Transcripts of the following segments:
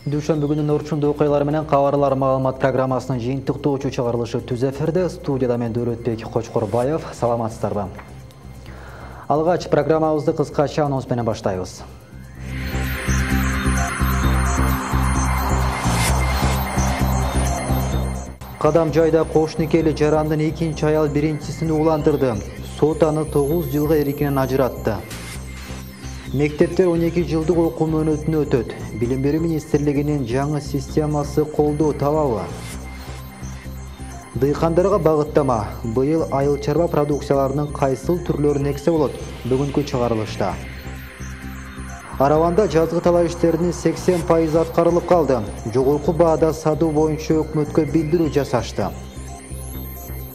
Дүйшөмбү күнүнүн орчундуу окуялары менен кабарлар маалымат программасынын жыйынтыктоочу чыгарылышы түз эфирде. Студияда мен Дөөлөтбек Кочкорбаев. Саламатсыздарбы? Алгач программабызды кыскача анонс менен баштайбыз. Кадам жайда кош никели жарандын экинчи аял биринчисин ууландырды. Сот аны 9 жылга эркинен ажыратты. Мектептер 12 жылдык окуу мөөнөтүнө өтөт. Билим берүү министрлигинин жаңы системасы колдоо табабы? Дыйкандарга багыттама. Быйыл айыл чарба продукцияларынын кайсыл түрлөрүн эксе болот? Бүгүнкү чыгарылышта. Араванда жазгы талаа иштеринин 80% аткарылып калды. Жогорку баада сатуу боюнча өкмөткө билдирүү жасашты.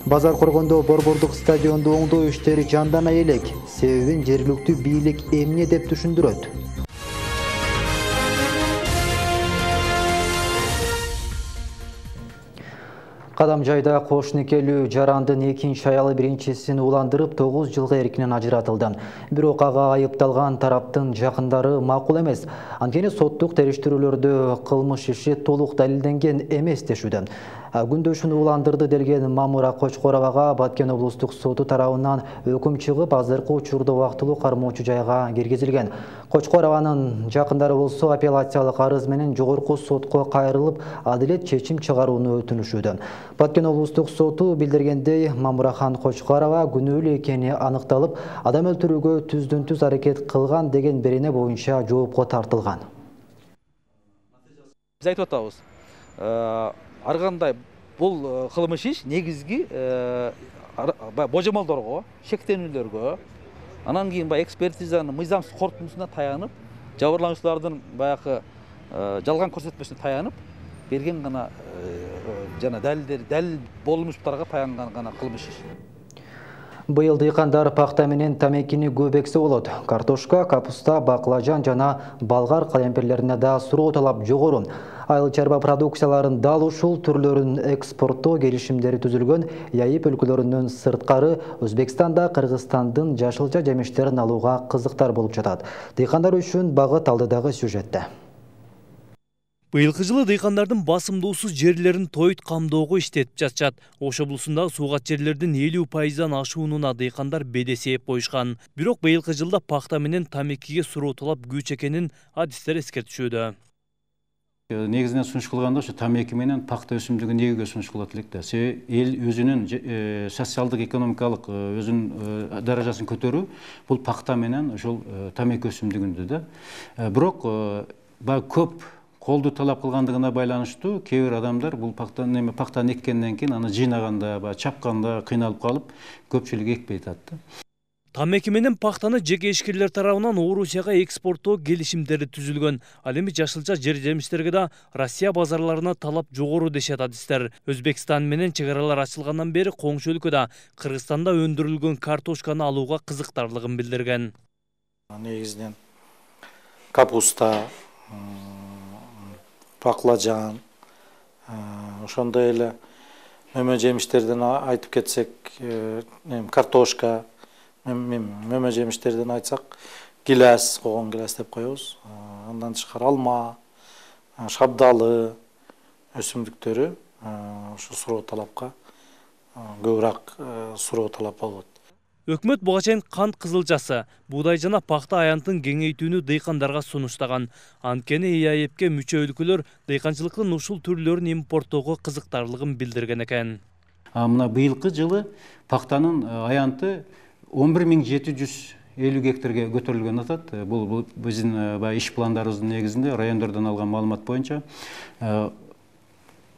Базар Коргондо борбордук стадионду оңдоо иштери жандана элек. Себебин жергиликтүү бийлик эмне деп түшүндүрөт. Кадам жайда кош никелүү жарандын экинчи аялы биринчисин ууландырып 9 жылга эркинен ажыратылды. Бирок ага айыпталган тараптын жакындары макул эмес. Анткени соттук териштирүүлөрдө кылмыш иши толук далилденген эмес дешүүдө. Күндөшүн ууландырды делген Мамура Кочкоровага Баткен облустук соту тарабынан өкүм чыгып, азыркы учурда убактылуу кармоочу жайга киргизилген. Кочкорованын жакындары болсо апелляциялык арыз менен жогорку сотко кайрылып, адилет чечим чыгарууну өтүнүшүүдө. Баткен облустук соту билдиргендей, Мамурахан Кочкорова күнөөлүү экени аныкталып, адам өлтүрүүгө түздөн-түз аракет кылган деген берене боюнча жоопко тартылган. Биз айтып атабыз. Ар кандай бул кылмыш иш негизги божомолдорго, шектенүүлөргө, анан кийин экспертизанын мыйзамсыз корутундусуна таянып, жабырлануучулардын баягы жалган көрсөтмөсүнө таянып берген гана жана далил болмуштарга таянган гана кылмыш иш. Быйыл дыйкандар пахта менен тамекини көп эксе болот. Картошка, капуста, баклажан жана балгар калемпирлерине да суроо талап жогору. Айыл чарба продукцияларын дал ушул түрлөрүн экспорттоо келишимдери түзүлгөн Яйып өлкөлөрүнөн сырткары Өзбекстанда Кыргызстандын жашылча жемиштерин алууга кызыктар болуп жатат. Дыйкандар үчүн багыт алдыдагы сюжетте. Быйылкы жылы дыйкандардын басымдуусуз жерлерин тойт камдоого иштетип жатышат. Ош облусундагы суугат жерлердин 50%дан ашуунуна дыйкандар бедес ээп коюшкан. Бирок быйылкы жылда пахта менен тамекиге суроо талап күч экенин адистер эскертишүүдө. Негизинен сунуш кылганда ошо тамеки менен пахта өсүмдүгү негиге сунуш кылат элек да. Себеби эл өзүнүн социалдык экономикалык өзүнүн даражасын көтөрүү бул пахта менен ошол тамеки өсүмдүгүндө да. Бирок көп колду талап кылгандыгына байланыштуу кээ бир адамдар бул пахтаны эккенден кийин аны жыйнаганда, чапканда кыйналып калып, көпчүлүк экпей атат. Тамеки менен пахтаны жеке ишкерлер тарабынан Орусияга экспорттоо келишимдери түзүлгөн. Ал эми жашылча жер-жемиштерге да Россия базарларына талап жогору дешет адистер. Өзбекстан менен чек аралар ачылгандан бери коңшу өлкөдө Кыргызстанда өндүрүлгөн картошканы алууга кызыктарлыгын билдирген. Негизинен капуста, баклажан, ошондой эле мөмө жемиштерден айтып кетсек, картошка, мөмө жемиштерден айтсак, гилас, когон гилас деп коебуз. Андан тышкары алма, шабдалы өсүмдүктөрү ошо суроо талапка көбүрөөк суроо талап болот. Өкмөт буга чейин кант кызылчасы, буудай жана пахта аянтын кеңейтүүнү дыйкандарга сунуштаган. Анткени ИАЭПке мүчө өлкөлөр дыйканчылыктын ушул түрлөрүн импорттоого кызыктарлыгын билдирген экен. Мына быйылкы жылы пахтанын аянты 11750 гектарга көтөрүлгөн атат. Бул биздин иш пландарыбыздын негизинде райондордон алган маалымат боюнча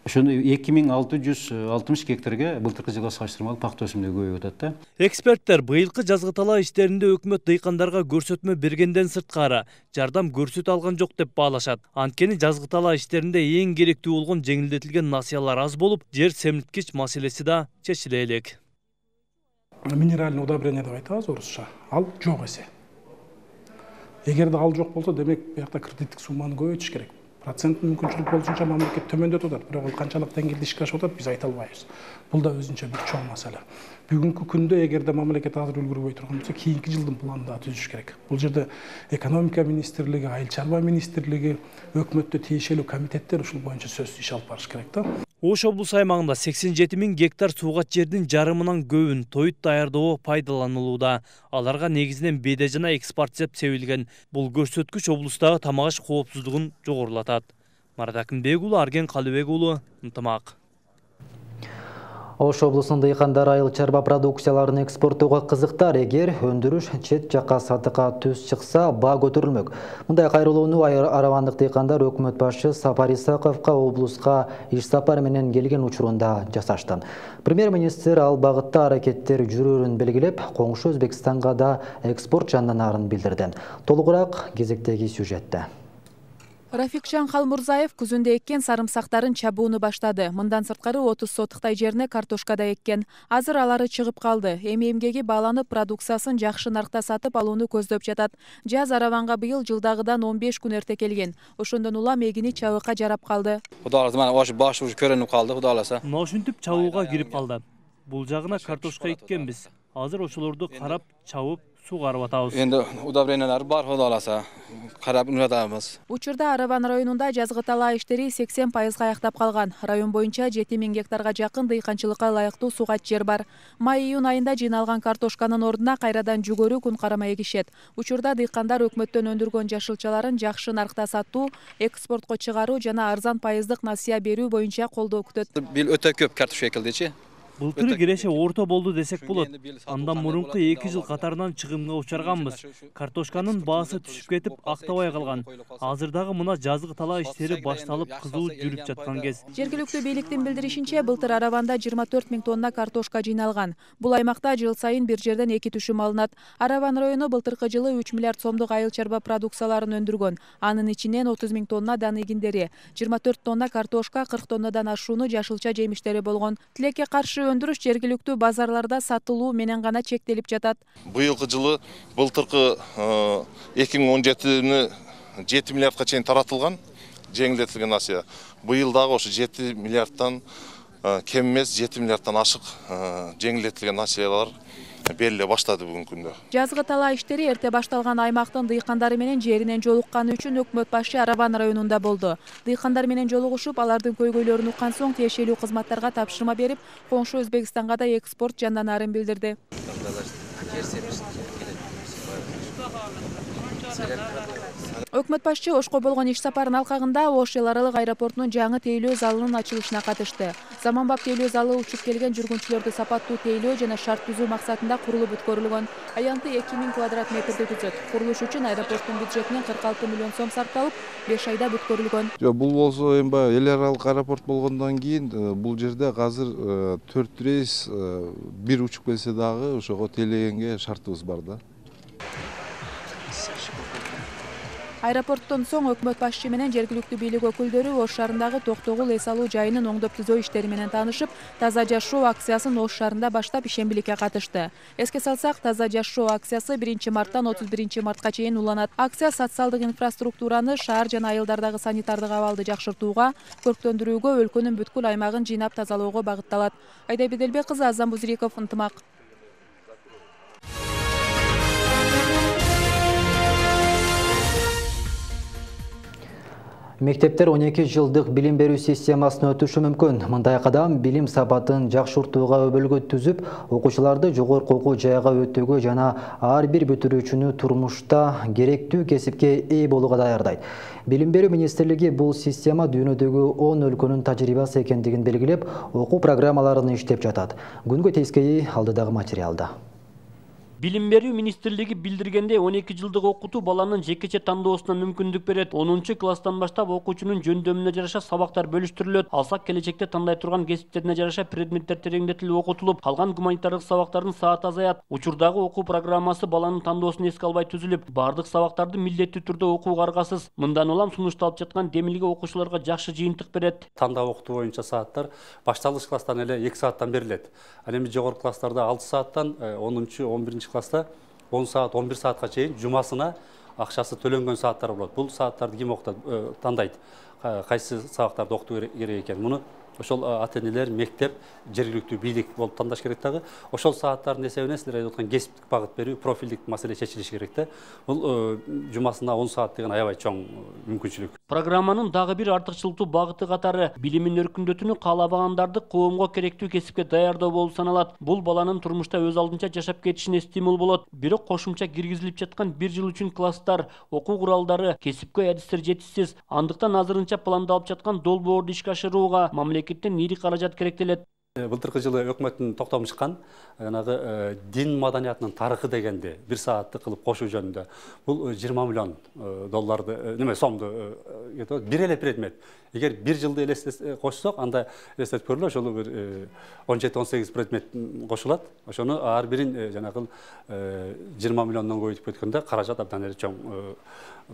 ошону 2660 гектарга былтыркы жылга салыштырмалуу пахта өсүмдүгү көбөйүп атат да. Эксперттер быйылкы жазгы талаа иштеринде өкмөт дыйкандарга көрсөтмө бергенден сырткары жардам көрсөтө алган жок деп баалашат. Анткени жазгы талаа иштеринде эң керектүү болгон жеңилдетилген насыялар аз болуп, жер семирткич маселеси да чечиле элек. Минеральный удобрение деп айтабыз орусча. Ал жок эсе. Эгерде ал жок болсо, демек бuyakta кредиттик сумманы көбөйтүш керек. процент мүмкүнчүлүк болушунча мамлекет төмөндөтүп атат, бирок ал канчалык деңгээлде ишке ашып атат биз айта албайбыз. Бул да өзүнчө бир чоң маселе. Бүгүнкү күндө эгерде мамлекет азыр үлгүрбөй турган болсо, кийинки жылдын планын да түзүш керек. Бул жерде экономика министрлиги, айыл чарба министрлиги, өкмөттө тиешелүү комитеттер ушул боюнча сөзсүз иш алып барыш керек да. Ош облус аймагында 87 000 гектар суугат жердин жарымынан көбүн тоют даярдоо пайдаланылууда. Аларга негизинен беде жана экспортсеп себилген. Бул көрсөткүч облустагы тамак аш коопсуздугун жогорулатат. Марат Акынбек уулу, Арген Калыбек уулу, Ынтымак. Ош облусунун дыйкандары айыл чарба продукцияларын экспорттоого кызыктар. Эгер өндүрүш чет жакка сатыкка түз чыкса, баа көтөрүлмөк. Мындай кайрылууну аравандык дыйкандар өкмөт башчы Сапар Исаковго облуска иш сапары менен келген учурунда жасашты. Премьер-министр ал багытта аракеттер жүрөрүн белгилеп, коңшу Өзбекстанга да экспорт жандanaарын билдирди. Толугураак кезектеги сюжетте. Рафикжан Халмурзаев күзүндө эккен сарымсактарын чабууну баштады. Мындан сырткары 30 сотуктай жерине картошка да эккен. Азыр алары чыгып калды. Эми эмгеги бааланып, продукциясын жакшы наркта сатып алууну көздөп жатат. Жаз араванга быйыл жылдагыдан 15 күн эрте келген. Ошондон улам эгини чабыкка жарап калды. Кудай кааласа, мына ош баш уже көрүнүп калды, кудай кааласа. Мына ушинтип чабууга кирип калды. Бул жагына картошка эккенбиз. Азыр ошолорду карап, чабып, сугарып атабыз. Эndi удобрениялар бар, кудай кааласа. Карап унатабыз. Учурда Араван районунда жазгы талаа иштери 80% аяктап калган. Район боюнча 7 000 гектарга жакын дыйканчылыкка ылайыктуу суугат жер бар. Май-июнь айында жыйналган картошканын ордуна кайрадан жүгөрү күн карамай эгишет. Учурда дыйкандар өкмөттөн өндүргөн жашылчаларын жакшы наркта сатуу, экспортко чыгаруу жана арзан пайыздык насыя берүү боюнча колдоо күтөт. Бил өтө көп картошка экилдичи. Былтыр киреше орто болду десек болот. Андан мурунку 2 жыл катарынан чыгымга учарганбыз. Картошканын баасы түшүп кетип, актабай калган. Азырдагы мына жазгы талаа иштери башталып, кызуу жүрүп жаткан кез. Жергиликтүү бийликтин билдиришинче, былтыр Араванда 24 000 тонна картошка жыйналган. Бул аймакта жыл сайын бир жерден 2 түшүм алынат. Араван району былтыркы жылы 3 миллиард сомдук айыл чарба продукцияларын өндүргөн. Анын ичинен 30 000 тонна дан эгиндери, 24 тонна картошка, 40 тоннадан ашууну жашылча жемиштери болгон. Тилекке каршы өндүрүш жергиликтүү базарларда сатылуу менен гана чектелип жатат. Быйылкы жылы былтыркы 2017-ни 7 миллиардка чейин таратылган, жеңилдетилген насыя. Быйыл дагы ошо 7 миллиардтан кем эмес, 7 миллиардтан ашык жеңилдетилген насыялар бериле баштады бүгүнкү күндө. Жазгы талаа иштери эрте башталган аймактын дыйкандары менен жеринен жолукканы үчүн өкмөт башчы Араван районунда болду. Дыйкандар менен жолугушуп, алардын көйгөйлөрүн уккан соң тиешелүү кызматтарга тапшырма берип, коңшу Өзбекстанга да экспорт жанданаарын билдирди. Өкмөт башчы Ошко болгон иш сапарынын алкагында Ош эл аралык аэропортунун жаңы тейлөө залынын ачылышына катышты. Заманбап тейлөө залы учуп келген жүргүнчүлөрдү сапаттуу тейлөө жана шарт түзүү максатында курулуп бүткөрүлгөн. Аянты 2000 квадрат метрди түзөт. Курулуш үчүн аэропорттун бюджетинен 46 миллион сом сарпталып, 5 айда бүткөрүлгөн. Бул болсо эми эл аралык аэропорт болгондон кийин бул жерде азыр 4 рейс бир учуп келсе дагы ошого тейлегенге шартыбыз бар да. Аэропорттон соң өкмөт башчы менен жергиликтүү бийлик өкүлдөрү Ош шаарындагы Токтогул эс алуу жайынын оңдоп түзөө иштери менен таанышып, Таза жашоо акциясын Ош шаарында баштап ишембиликке катышты. Эске салсак, Таза жашоо акциясы 1 марттан 31 мартка чейин уланат. Акция социалдык инфраструктураны, шаар жана айылдардагы санитардык абалды жакшыртууга, көрктөндүрүүгө, өлкөнүн бүткүл аймагын жыйнап тазалоого багытталат. Айда Беделбек кызы, Азам Бузириков, Ынтымак. Мектептер 12 жылдык билим берүү системасына өтүшү мүмкүн. Мындай кадам билим сапатын жакшыртууга өбөлгө түзүп, окуучуларды жогорку окуу жайга өтүүгө жана ар бир бүтүрүүчүнү турмушта керектүү кесипке ээ болууга даярдайт. Билим берүү министрлиги бул система дүйнөдөгү 10 өлкөнүн тажрыйбасы экендигин белгилеп, окуу программаларын иштеп жатат. Күнгө тескейи алдыдагы материалда. Билим берүү министрлиги билдиргенде 12 жылдык окутуу баланын жекече тандоосуна мүмкүндүк берет. 10 класстан баштап окуучунун жөндөмүнө жараша сабактар бөлүштүрүлөт. Алсак келечекте тандай турган кесиптерине жараша предметтер тереңдетилип окутулуп, калган гуманитардык сабактардын сааты азаят. Учурдагы окуу программасы баланын тандоосун эске албай түзүлүп, бардык сабактарды милдеттүү түрдө окууга аргасыз. Мындан улам сунушталып жаткан демилге окуучуларга жакшы жыйынтык берет. Тандап окутуу боюнча сааттар башталгыч класстан эле 2 сааттан берилет. Ал эми жогорку класстарда 6 сааттан, 10-11 класста 10 саат, 11 саатка чейин жумасына акчасы төлөнгөн сааттар болот. Бул сааттарды ким тандайт? Кайсы сабактарды окутуу керек экен? Муну ошол ата-энелер, мектеп, жергиликтүү бийлик болуп тандаш керек дагы. Ошол сааттардын эсебинен силер айтып аткан кесиптик багыт берүү, профилдик маселе чечилиш керек да. Бул жумасына 10 саат деген аябай чоң мүмкүнчүлүк. Программанын дагы бир артыкчылыктуу багыты катары билимин өркүндөтүүнү каалабагандарды коомго керектүү кесипке даярдоо болуп саналат. Бул баланын турмушта өз алдынча жашап кетишине стимул болот. Бирок кошумча киргизилип жаткан 1 жыл үчүн класстар, окуу куралдары, кесипкөй адистер жетишсиз. Андыктан азырынча пландалып жаткан долбоорду ишке ашырууга мамлекеттен ири каражат керектелет. Былтыркы жылы өкмөттүн токтому чыккан жанагы дин маданиятынын тарыхы дегенди 1 саатты кылып кошуу жөнүндө. Бул 20 миллион долларды, сомду бир эле предмет. Эгер 1 жылды кошсок, анда элестетип көрүлө, ошол бир 17-18 предмет кошулат. Ошону ар бирин жанагы 20 миллиондон көбөйтүп кеткөндө каражат абдан эле чоң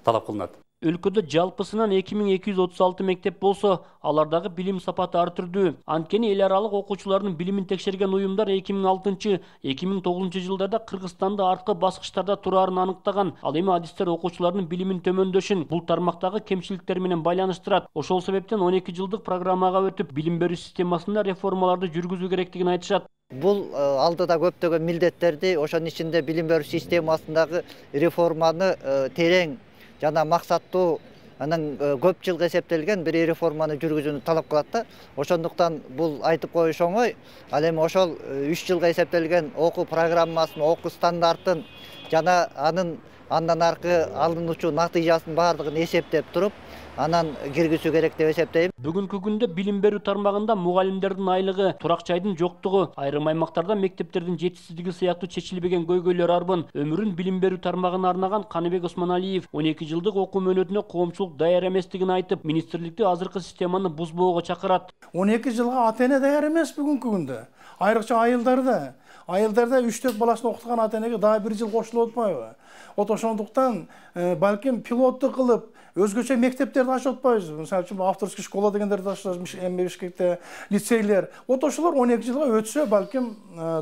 талап кылынат. Өлкөдө жалпысынан 2236 мектеп болсо, алардагы билим сапаты ар түрдүү. Анткени эл аралык окуучулардын билимин текшерген уюмдар 2006-2009 жылдарда Кыргызстанда арткы баскычтарда турарын аныктаган. Ал эми адистер окуучулардын билимин төмөндөшүн бул тармактагы кемчиликтер менен байланыштырат. Ошол себептен 12 жылдык программага өтүп, билим берүү системасында реформаларды жүргүзүү керектигин айтышат. Бул алдыда көптөгөн милдеттерди, ошонун ичинде билим берүү системасындагы реформаны терең жана максаттуу, анан көп жылга эсептелген бир реформаны жүргүзүүнү талап кылат да. Ошондуктан бул айтып коюш оңой. Ал эми ошол 3 жылга эсептелген окуу программасын, окуу стандартын жана андан аркы алынуучу натыйжасын баардыгын эсептеп туруп, анан киргизүү керек деп эсептейм. Бүгүнкү күндө билим берүү тармагында мугалимдердин айлыгы, турак жайдын жоктугу, айрым аймактарда мектептердин жетишсиздиги сыяктуу чечилбеген көйгөйлөр арбын. Өмүрүн билим берүү тармагына арнаган Каныбек Осмоналиев 12 жылдык окуу мөөнөтүнө коомчулук даяр эместигин айтып, министрликти азыркы системаны бузбоого чакырат. 12 жылга ата-эне даяр эмес бүгүнкү күндө. Айрыкча айылдарда 3-4 баласын окуткан ата-энеге дагы 1 жыл кошулуп атпайбы? Ошондуктан балким пилотту кылып өзгөчө мектептерди ачып атпайбыз. Мисалы үчүн авторский школа дегендерди ачабыз, эми Бишкекте лицейлер. Ошолор 12 жылга өтсө балким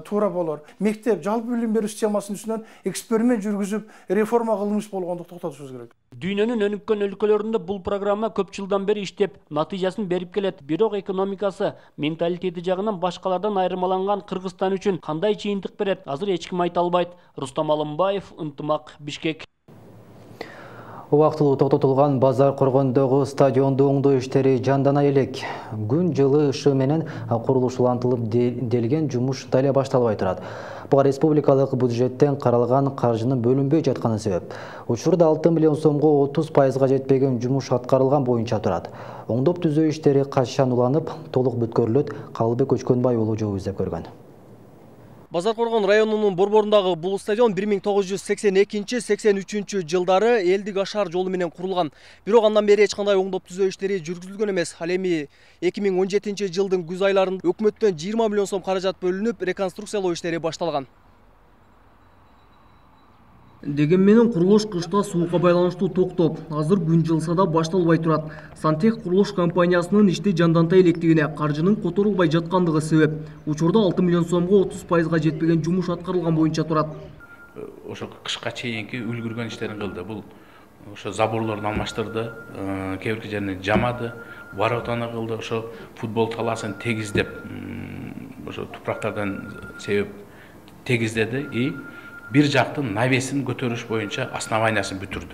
туура болор. Мектеп жалпы билим берүү системасынын үстүнөн эксперимент жүргүзүп, реформа кылмыш болгондук токтотушубуз керек. Дүйнөнүн өнүккөн өлкөлөрүндө бул программа көп жылдан бери иштеп, натыйжасын берип келет. Бирок экономикасы, менталитети жагынан башкалардан айырмаланган Кыргызстан үчүн кандай чыйынтык берет, азыр эч ким айта албайт. Рустам Алымбаев, Ынтымак, Бишкек. Убактылуу токтотулган базар коргондогу стадионду оңдоо иштери жандана элек. Күн жылы ышыгы менен курулуш улантылып делген жумуш дале башталбай турат. Буга республикалык бюджеттен каралган каржынын бөлүнбөй жатканы себеп. Учурда 6 миллион сомго 30% жетпеген жумуш аткарылган боюнча турат. Оңдоп түзөө иштери качан уланып, толук бүткөрүлөт? Калыбек Көчкөнбай уулу жол издеп көргөн. Базаркоргон районунун борборундагы бул стадион 1982-83 жылдары элдик ашар жолу менен курулган. Бирок андан бери эч кандай оңдоп түзөө иштери жүргүзүлгөн эмес. Ал эми 2017 жылдын күз айларында өкмөттөн 20 миллион сом каражат бөлүнүп, реконструкциялоо иштери башталган. Деген менен курулуш кышта суукка байланыштуу токтоп, азыр күн жылса да башталбай турат. Сантех курулуш компаниясынын ишти жанданта электигине каржынын которулбай жаткандыгы себеп. Учурда 6 миллион сомго 30% жетпеген жумуш аткарылган боюнча турат. Ошо кышка чейинки үлгүргөн иштерин кылды. Бул ошо заборлорду алмаштырды, кээ бир жерин жамады, воротаны кылды, ошо футбол талаасын тегиздеп, ошо тупрактардан себеп тегиздеди и бир жактын навесин көтөрүш боюнча основаниясын бүтүрдү.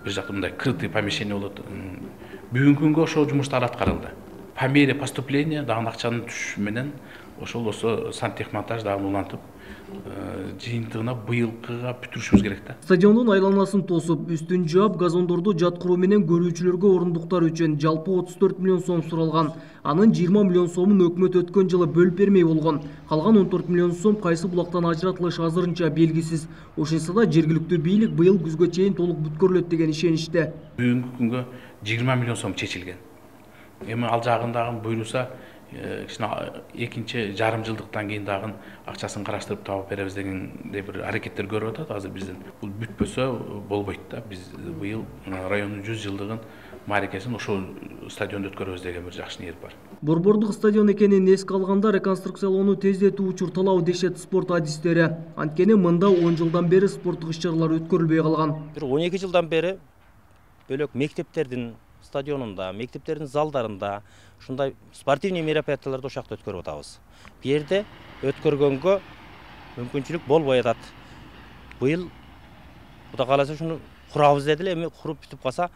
Бир жакта мындай крытый помещение болот. Бүгүнкү күнгө ошол жумуштар аткарылды. По мере поступления дагы акчанын түшүшү менен ошол сантехмонтаж дагы улантып, жыйынтыгына быйылкыга бүтүрүшүбүз керек да. Стадиондун айланасын тосуп, үстүн жаап, газондорду жаткыруу менен көрүүчүлөргө орундуктар үчүн жалпы 34 миллион сом суралган. Анын 20 миллион сомун өкмөт өткөн жылы бөлүп бермей болгон. Калган 14 миллион сом кайсы булактан ажыратылышы азырынча белгисиз. Ошентсе да жергиликтүү бийлик быйыл күзгө чейин толук бүткөрүлөт деген ишеничте. Бүгүнкү күнгө 20 миллион сом чечилген. Эми ал жагындагы буйруса экинчи жарым жылдыктан кийин дагы акчасын караштырып таап беребиз дегендей бир аракеттер көрүп атат азыр бизден. Бул бүтпөсө болбойт да. Биз быйыл райондун 100 жылдыгын мааракесин ошол стадиондо өткөрөбүз деген бир жакшы ниет бар. Борбордук стадион экенин эске алганда реконструкциялоону тездетүү учур талабы дешет спорт адистери. Анткени мында 10 жылдан бери спорттук иш-чаралар өткөрүлбөй калган. Бир 12 жылдан бери бөлөк мектептердин стадионунда, мектептердин залдарында ушундай спортивный мероприятияларды ошакта өткөрүп атабыз. Бу жерде өткөргөнгө мүмкүнчүлүк болбой атат. Быйыл Кудай кааласа ушуну курабыз деди эле, эми куруп бүтүп калса,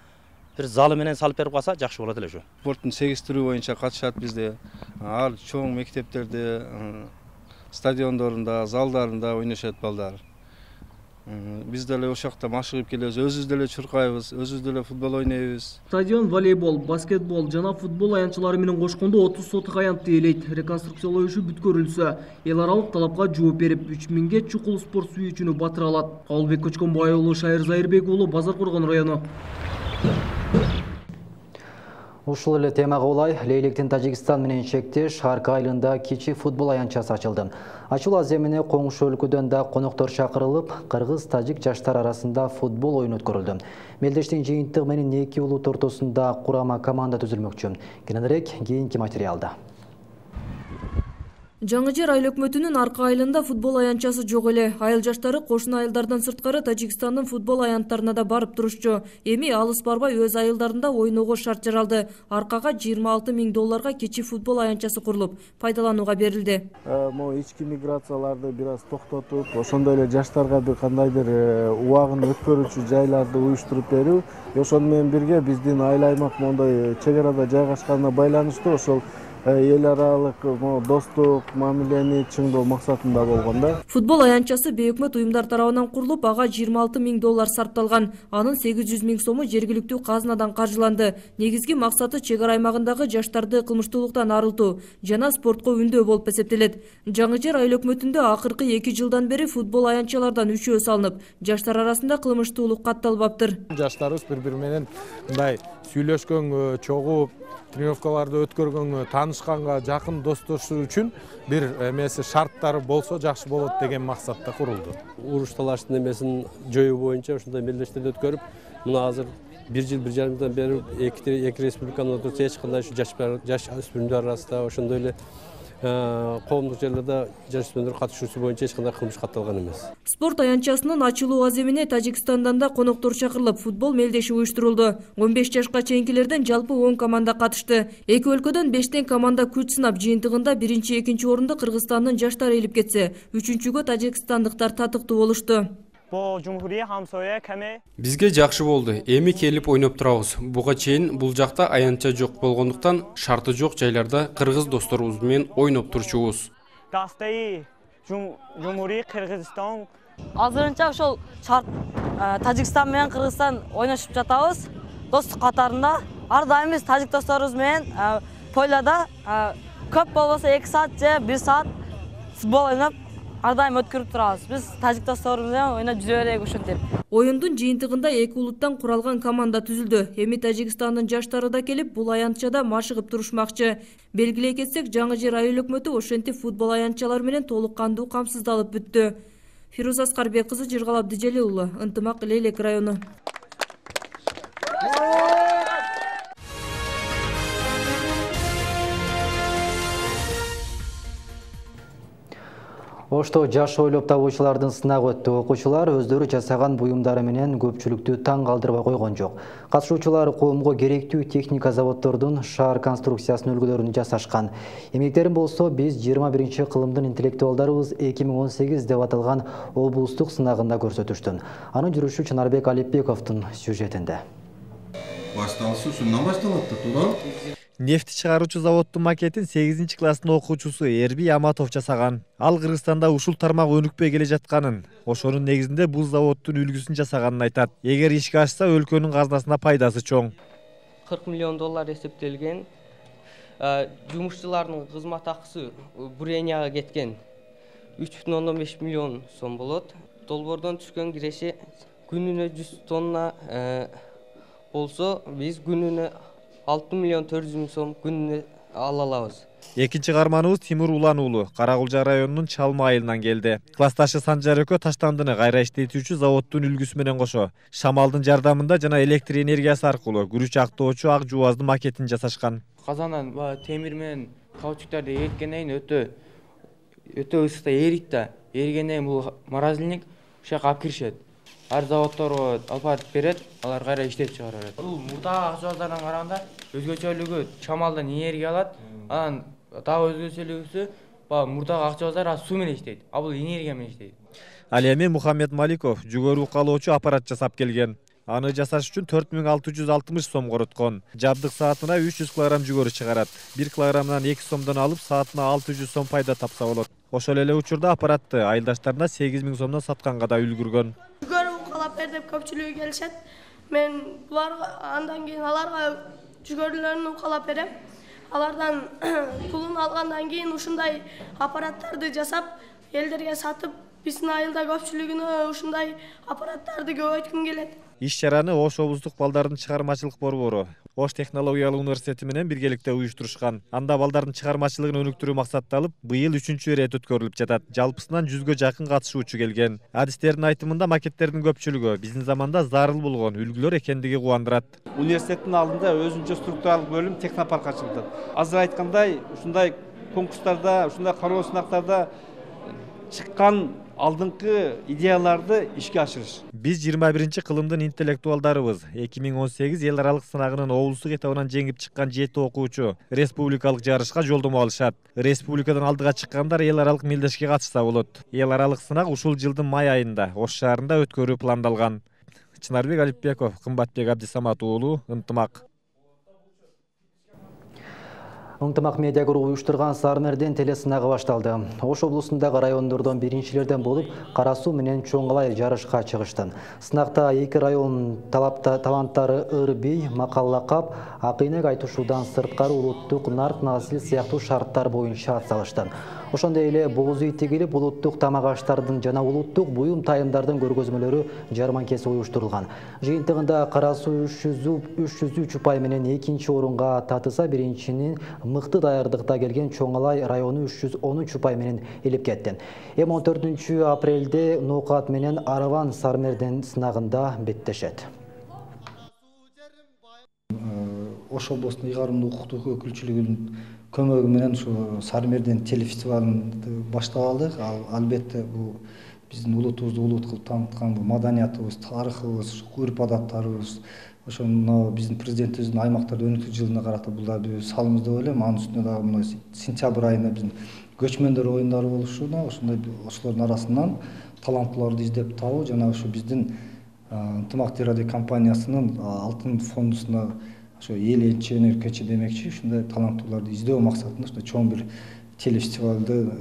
бир залы менен салып берип калса жакшы болот эле ушу. Спорттун сегиштирүү боюнча катышат бизде. Ар чоң мектептерде, стадиондорунда, залдарында ойношот балдар. Биз деле ошакта машыгып келебиз, өзүбүз деле чуркайбыз, өзүбүз деле футбол ойнойбуз. Стадион волейбол, баскетбол жана футбол аянтчылары менен кошкондо 30 соток аянтты ээлейт. Реконструкциялоо иши бүткөрүлсө, эл аралык талапка жооп берип, 3000ге чукул спорт сүйүүчүнү батыра алат. Кабылбек Көчкөнбай уулу, Шайыр Зайырбек уулу, Базар Коргон району. Ушул эле темага улай Лейлектин Тажикстан менен чектеш Арка айылында кичи футбол аянтчасы ачылды. Ачуу аземине коңшу өлкөдөн да коноктор чакырылып, кыргыз-тажик жаштар арасында футбол оюн өткөрүлдү. Мелдештин жыйынтыгы менен эки улут ортосунда курама команда түзүлмөкчү. Кененирээк кийинки материалда. Жаңы жер айыл өкмөтүнүн Арка айылында футбол аянтчасы жок эле. Айыл жаштары кошуна айылдардан сырткары Тажикстандын футбол аянттарына да барып турушчу. Эми алыс барбай өз айылдарында ойноого шарт жаралды. Аркага $26,000 кичи футбол аянтчасы курулуп, пайдаланууга берилди. Могу ички миграцияларды бир аз токтотуп, ошондой эле жаштарга бир кандайдыр убагын өткөрүүчү жайларды уюштуруп берүү, ошону менен бирге биздин айыл аймак мондой чек арада жайгашканына байланыштуу ошол эл аралык достук мамилени чыңдоо максатында болгон да. Футбол аянтчасы бейөкмөт уюмдар тарабынан курулуп, ага $26,000 сарпталган. Анын 800,000 сому жергиликтүү казынадан каржыланды. Негизги максаты чек ара аймагындагы жаштарды кылмыштуулуктан арылтуу жана спортко үндөө болуп эсептелет. Жаңы жер айыл өкмөтүндө акыркы 2 жылдан бери футбол аянтчалардан үшөө салынып, жаштар арасында кылмыштуулук катталбаптыр. Жаштарыбыз бири-бири менен мындай сүйлөшкөнгө, чогуп, тренировкаларды өткөргөнгө, таанышканга, жакын достошуу үчүн бир эмеси шарттары болсо жакшы болот деген максатта курулду. Уруш талаштын эмесин жоюу боюнча ошондой мелдештерди өткөрүп, мына азыр 1 жыл 1,5 жылдан бери эки республиканын ортосунда эч кандай жаш өспүрүмдөр арасында ошондой эле коомдук жерлерде жасөспүрүмдөр катышуусу боюнча эч кандай кылмыш катталган эмес. Спорт аянтчасынын ачылуу аземине Тажикстандан да коноктор чакырылып, футбол мелдеши уюштурулду. 15 жашка чейинкилерден жалпы 10 команда катышты. Эки өлкөдөн 5 команда күч сынап, жыйынтыгында 1-2 орунду Кыргызстандын жаштары ээлип кетсе, 3-гө тажикстандыктар татыктуу болушту. Бизге жакшы болду. Эми келип ойноп турабыз. Буга чейин бул жакта аянтча жок болгондуктан шарты жок жайларда кыргыз досторубуз менен ойноп турчубуз. Азырынча ошол шарт Тажикстан менен Кыргызстан ойношуп жатабыз. Достук катарында ар дайым биз тажик досторубуз менен пойлада көп болбосо 2 саат же 1 саат футбол ойноп ар дайым өткөрүп турабыз. Биз тажик досторубуз менен ойноп жүрө берейик ушинтип. Оюндун жыйынтыгында эки улуттан куралган команда түзүлдү. Эми Тажикстандын жаштары да келип, бул аянтчада машыгып турушмакчы. Белгилей кетсек, жаңы жер айыл өкмөтү ошентип футбол аянтчалары менен толук кандуу камсыздалып бүттү. Фирuz Аскарбек кызы, Жыргал Абдижели уулу, Ынтымак, Лейлек району. Ошто жаш ойлоп табуучулардын сынагы өттү. Окуучулар өздөрү жасаган буюмдары менен көпчүлүктү таң калтырбай койгон жок. Катышуучулар коомго керектүү техника заводдордун шаар конструкциясынын үлгүлөрүн жасашкан. Эмгектерин болсо биз 21 кылымдын интеллектуалдарыбыз 2018 деп аталган облустук сынагында көрсөтүштү. Анын жүрүшү Чынарбек Алипбековдун сюжетинде. Башталышы ушундан башталат да, туура? Нефти чыгаруучу заводдун макетин 8 класстын окуучусу Эрби Аматов жасаган. Ал Кыргызстанда ушул тармак өнүкпөй келе жатканын, ошонун негизинде бул заводдун үлгүсүн жасаганын айтат. Эгер ишке ашса, өлкөнүн казынасына пайдасы чоң. $40 миллион эсептелген. Жумушчулардын кызмат акысы буренияга кеткен. 3,5 миллион сом болот. Долбоордон түшкөн киреши күнүнө 100 тонна болсо, биз күнүнө 6,4 миллион сом күнүнө ала алабыз. Экинчи каарманыбыз Тимур Улан уулу Каракулжа районунун Чалма айылынан келди. Классташы Санжар Өкө таштандыны кайра иштетүүчү заводдун үлгүсү менен кошо шамалдын жардамында жана электр энергиясы аркылуу күрүч актоочу ак жубаздын макетин жасашкан. Казандан темир менен каучуктарды эриткенден кийин өтө ысыкта эрийт да. Эригенден кийин бул морозильник ушул жака алып киришет. Ар заводдорго алып барып берет, алар кайра иштетип чыгарат. Бул мурдагы ак жубаздардан караганда өзгөчөлүгү шамалдан энергия алат, анан дагы өзгөчөлүгүсү мурдагы ак жубаздар суу менен иштейт, а бул энергия менен иштейт. Ал эми Мухаммед Маликов жүгөрү укалоочу аппарат жасап келген. Аны жасаш үчүн 4660 сом короткон. Жабдык саатына 300 кг жүгөрү чыгарат. 1 килограммдан 2 сомдон алып, саатына 600 сом пайда тапса болот. Ошол эле учурда аппаратты айылдаштарына 8000 сомдон сатканга да үлгүргөн. Жүгөрү укалап бер деп көпчүлүгү келишет. Мен буларга андан кийин аларга жүгөрүлөрүн укалап берем. Алардан пулун алгандан кийин ушундай аппараттарды жасап, элдерге сатып, биздин айылда көпчүлүгүнө ушундай аппараттарды көбөйткүм келет. Иш-чараны Ош облустук балдардын чыгармачылык борбору Ош технологиялык университети менен биргеликте уюштурушкан. Анда балдардын чыгармачылыгын өнүктүрүү максатталып, быйыл 3-чү ирет өткөрүлүп жатат. Жалпысынан 100гө жакын катышуучу келген. Адистердин айтымында макеттердин көпчүлүгү биздин заманда зарыл болгон үлгүлөр экендиги кубандырат. Университеттин алдында өзүнчө структуралык бөлүм технопарк ачылды. Азыр айткандай, ушундай конкурстарда, ушундай кароо сынактарда чыккан алдыңкы идеяларды ишке ашырыш. Биз 21 кылымдын интеллектуалдарыбыз. 2018 эл аралык сынагынын облустук этабынан жеңип чыккан 7 окуучу республикалык жарышка жолдомо алышат. Республикадан алдыга чыккандар эл аралык мелдешке катышса болот. Эл аралык сынак ушул жылдын май айында Ош шаарында өткөрүү пландалган. Чынарбек Алипбеков, Кымбатбек Абдисамат уулу, Ынтымак. Ынтымак медиа группу уюштурган Сармерден телесынагы башталды. Ош облусундагы райондордон биринчилерден болуп, Кара Суу менен Чоңалай жарышка чыгышты. Сынакта эки район таланттары Ырбей, Макаллакап, Акыйнек айтышуудан сырткары улуттук нарт насил сыяктуу шарттар боюнча атсалышты. Ошондой эле боз итигилип улуттук тамак аштардын жана улуттук буюм тайымдардын көргөзмөлөрү жарманкеси уюштурулган. Жыйынтыгында Кара Суу 303 упай менен экинчи орунга татыса, биринчинин мыкты даярдыкта келген Чоңалай району 313 упай менен элеп кетти. 14 апрелде Ноокат менен Араван Сармерден сынагында беттешет. Ош облусунун ыйгарымдуу укуктук өкүлчүлүгүнүн көмөгү менен ушу Сармерден телефестивалын баштап алдык. Албетте бул биздин улутубузду улут кылып тааныткан маданиятыбыз, тарыхыбыз, үрп адаттарыбыз, ошону биздин президентибиздин аймактарды өнүктүрүү жылына карата бул да бир салымыбыз деп ойлойм. Анын үстүнө дагы мына сентябрь айында биздин көчмөндөр оюндары болушуна, ошондой ошолордун арасынан таланттууларды издеп табуу жана ушу биздин Ынтымак телерадио компаниясынын алтын фондусуна ошо эл энчи кечи демекчи, ушундай таланттууларды издөө максатында ушундай чоң бир телефестивалды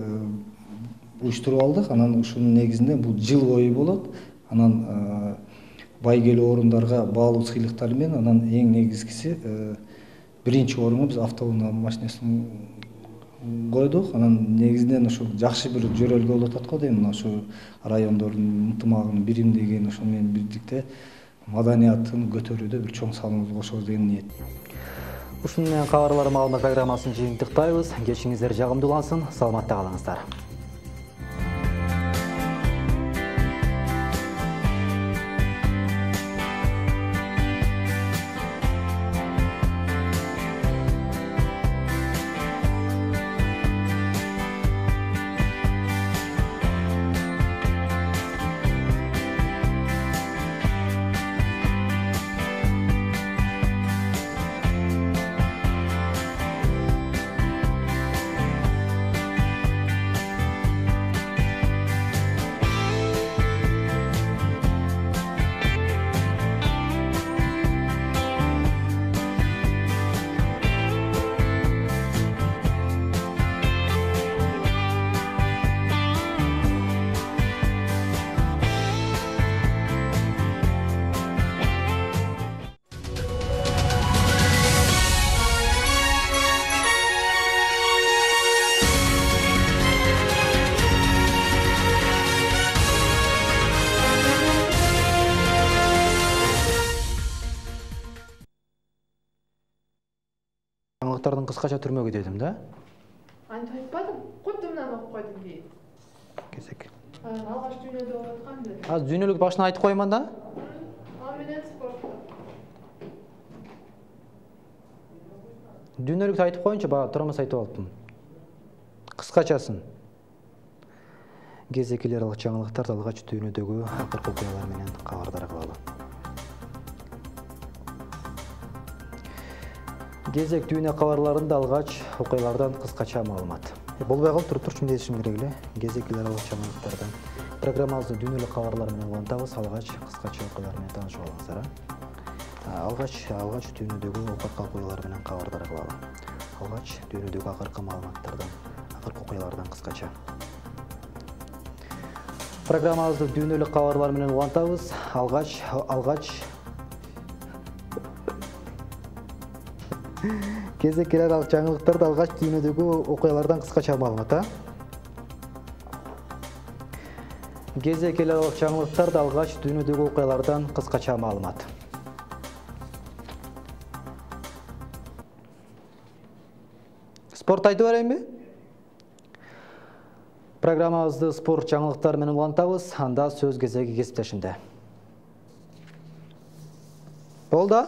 уюштуруп алдык. Анан ушунун негизинде бул жыл бою болот. Анан байгелүү орундарга баалуу сыйлыктар менен, анан эң негизгиси биринчи орунга биз автоунаа машинесин койдук. Анан негизинен ошо жакшы бир жөрөлгө болуп атат го дейм. Мына ошо райондордун ынтымагын, биримдигин, ошо менен бирдикте маданиятын көтөрүүдө бир чоң салымыбызды кошобуз деген ниет. Ушуну менен кабарлар маалымат программасын жыйынтыктайбыз. Кечиңиздер жагымдуулансын, саламатта калыңыздар. Кыскача түрмөгү дедим да. Антип айтпадым, кутумдан окуп койдум дейт. Кезек. Алгаш дүйнөдө болуп атканды. Азыр дүйнөлүк башынан айтып коюман да. Ал менен спортто. Дүйнөлүктү айтып коюнчу, бага турамас айтып алыптым. Кыскачасын. Кезекилер жаңылыктарды алгач дүйнөдөгү акыркы окуялар менен кабардар кылалы. Кезек дүйнө кабарларында алгач окуялардан кыскача маалымат. Болбой калып турчу дешим керек эле. Кезекилер алгач жаңылыктардан программабызды дүйнөлүк кабарлар менен улантабыз. Алгач кыскача окуялар менен таанышып алыңыздар. Алгач дүйнөдөгү акыркы окуялар менен кабардар кылалы. Алгач дүйнөдөгү акыркы маалыматтардан, акыркы окуялардан кыскача. Программабызды дүйнөлүк кабарлар менен улантабыз. Алгач кезекилер жаңылыктарды алгач дүйнөдөгү окуялардан кыскача маалымат. Кезекилер жаңылыктарды алгач дүйнөдөгү окуялардан кыскача маалымат. Спорт айтып берейинби? Программабызды спорт жаңылыктары менен улантабыз. Анда сөз кезеги кесиптешимде. Болду?